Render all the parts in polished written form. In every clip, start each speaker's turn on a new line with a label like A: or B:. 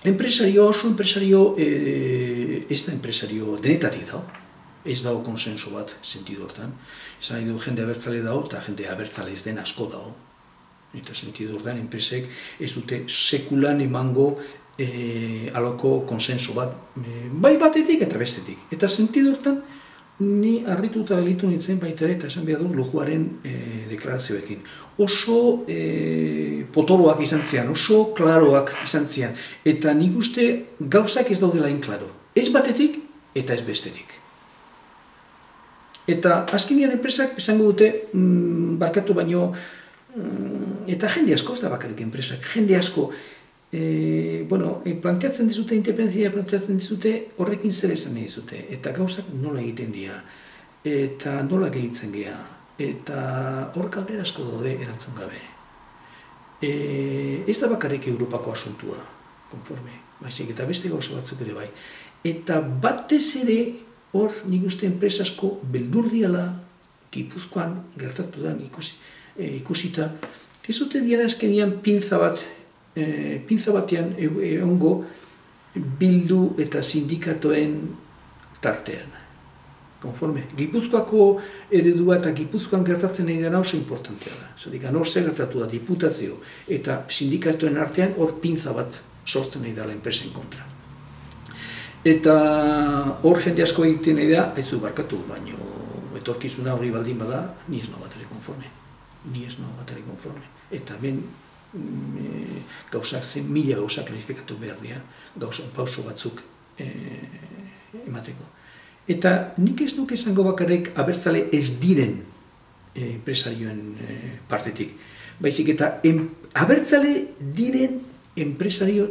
A: Enpresario, oso enpresario, ez da enpresario denetatik dago. Ez dago konsenso bat, sentidu hortan. Esan nahi du jende abertzale dago, eta jende abertzale ez den asko dago. Eta sentidu hortan, enpresek ez dute sekulan emango aloko konsenso bat, bai batetik eta bestetik. Eta sentidu hortan, ni harrituta gelitu nintzen baita ere, eta esan behar du lujuaren deklarazioekin. Oso potoloak izan zian, oso klaroak izan zian. Eta nik uste gauzak ez daudela klaro. Ez batetik eta ez bestetik. Eta azkenean enpresak esango dute, barkatu baino, eta jende asko, ez da bakarrik enpresak, jende asko, planteatzen dizute, independentzia planteatzen dizute, horrekin zer esan nahi dizute, eta gauzak nola egiten dira, eta nola gelitzen gea, eta hor kaldera asko daude erantzun gabe. Ez da bakarrik Europako asuntua, konforme, baizik, eta beste gauza batzuk ere bai. Eta batez ere, hor nik uste enpresa asko beldur diala, Gipuzkoan gertatu da ikusita, ez dute diara azkenean pintza batean egongo Bildu eta sindikatoen tartean. Konforme, Gipuzkoako eredua eta Gipuzkoan gertatzen nahi dena oso importantea da. Zatik, hor zer gertatu da diputazio eta sindikatoen artean hor pintza bat sortzen nahi dela enpresen kontra. Eta hor jende asko egiten nahi da, ez du barkatu, baina etorkizuna hori baldin bada, ni ez nago bat ere konforme. Ni ez nago bat ere konforme. Eta ben gauzak zen, mila gauzak klarifikatu behar dira, pauso batzuk emateko. Eta nik ez nuke esango bakarrik abertzale ez diren enpresarioen partetik. Baizik eta abertzale diren enpresario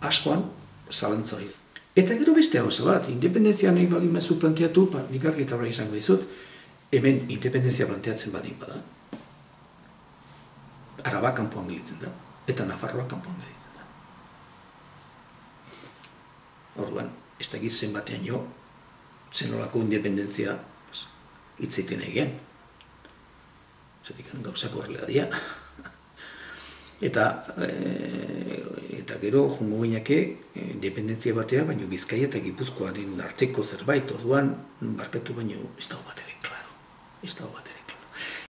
A: askoan zalantza hori. Eta gero beste gauza bat, independentzia nahi baldin bazu planteatu, nik argi eta horra izango dizut, hemen independentzia planteatzen baldin bada. Araba kanpoan gelitzen da, eta Nafarroa kanpoan gelitzen da. Orduan, ez dakit zenbatean jo, zenolako independentzia hitzeiten egin. Zatik, gauzak horrela dira. Eta gero, jongo gineake, independentzia batea, baina Bizkaia eta Gipuzkoaren arteko zerbait, orduan, barkatu baino, ez dago bat ere, klaro. Ez dago bat ere.